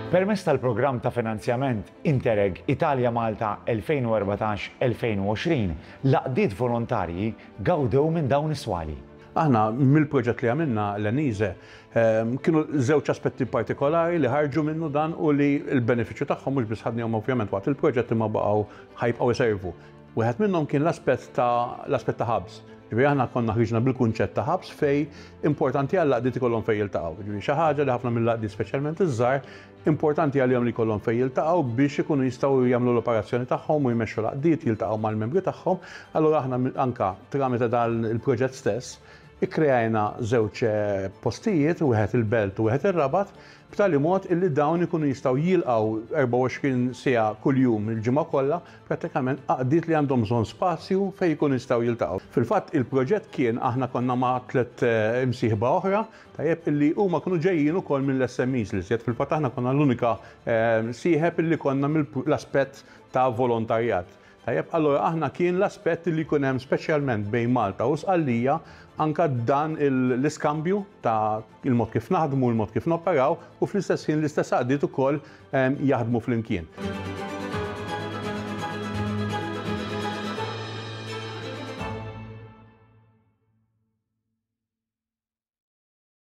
Permezz tal-programm ta' finanzjament Interreg Italia Malta 2014-2020, l-għaqdiet volontarji gawdew minn dawn is-swali. Aħna mill-proġett li għamilna l-Enise kienu żewġ aspetti partikolari li ħarġu minnu dan u li l-benefiċċju tagħhom mhux biss ħadnihom ovvjament waqt il-proġett imma baqgħu ħajbqgħu jservu. Wieħed minnhom kien l-aspett ta' l-aspett ta' hubs. Ġifieri aħna konna ħriġna bil-kunċett ta' hubs fej importanti għall-għaqdiet ikollhom fejn jiltaqgħu. Ġifieri xi ħaġa li ħafna mill-għaqdiet speċjalment iż-żgħar importanti għalihom li jkollhom fejn jiltaqgħu biex ikunu jistgħu jagħmlu l-operazzjoni tagħhom u jmexxu l-għaqdiet, jiltaqgħu mal-membri tagħhom. Allura aħna anka tramite dan il-proġett stess ikkreajna żewġ postijiet, wieħed il-Belt u wieħed ir-Rabat, b'tali mod illi dawn ikunu jistgħu jilqgħu 24 siegħa kuljum il-ġimgħa kollha prattikament għaqdiet li għandhom bżonn spazju fejn ikunu jistgħu jiltaqgħu. Fil-fatt il-proġett kien aħna konna ma' tlett imsieħba oħra, tajjeb, illi huma kienu ġejjin ukoll mill-SMEs l-iżjed. Fil-fatt aħna konna l-unika sieħeb illi konna mill-aspett ta' volontarjat. Tajjeb, allura aħna kien l-aspett li jkun hemm speċjalment bejn Malta u Sqallija anka dan l-iskambju ta' il-mod kif naħdmu, il-mod kif noperaw u fl-istess ħin l-istess għaqdiet ukoll jaħdmu flimkien.